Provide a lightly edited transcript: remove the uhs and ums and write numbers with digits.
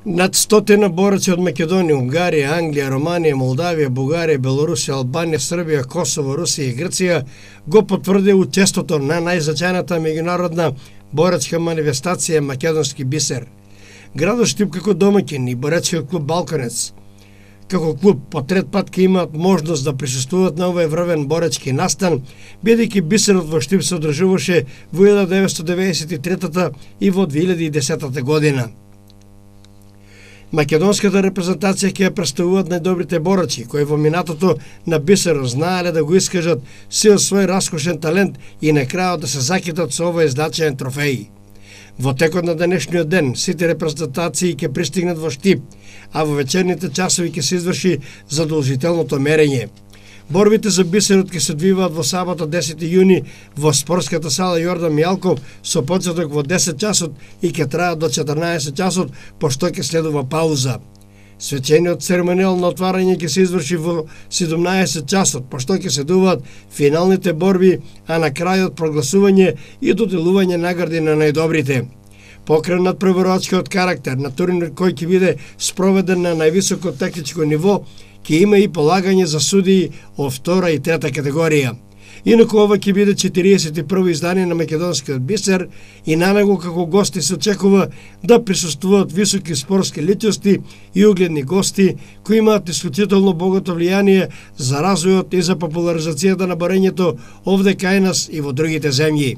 Над 100 борци од Македонија, Унгарија, Англија, Романија, Молдавија, Бугарија, Белорусија, Албанија, Србија, Косово, Русија и Грција го потврдија учеството на најзначајната меѓународна борачка манифестација Македонски бисер. Градот Штип како домаќин и боречкиот клуб Балканец како клуб по трет пат ќе имаат можност да присуствуваат на овој врвен боречки настан, бидејќи бисерот во Штип се одржуваше во 1993 и во 2010 година. Македонската репрезентација ќе ја представуваат најдобрите борачи, кои во минатото на бисерот знаеле да го искажат сил свој раскошен талент и на крајот да се закитат со овој значаен трофеј. Во текот на денешниот ден, сите репрезентации ќе пристигнат во Штип, а во вечерните часови ќе се изврши задолжителното мерење. Борбите за бисерот ќе се одвиваат во сабота 10 јуни во спортската сала Јордан Мијалков со почеток во 10 часот и ќе траат до 14 часот, пошто ќе следува пауза. Свечениот церемонијал на отварање ќе се изврши во 17 часот, пошто ќе се дуваат финалните борби, а на крајот прогласување и доделување награди на најдобрите. Покрај надпреварувачкиот карактер на турнир кој ќе биде спроведен на највисоко техничко ниво, ќе има и полагање за судии од втора и трета категорија. Инаку ова ќе биде 41-во издание на Македонскиот бисер и на него како гости се очекува да присуствуваат високи спортски личности и угледни гости кои имаат исклучително богато влијание за развојот и за популаризацијата на борењето овде кај нас и во другите земји.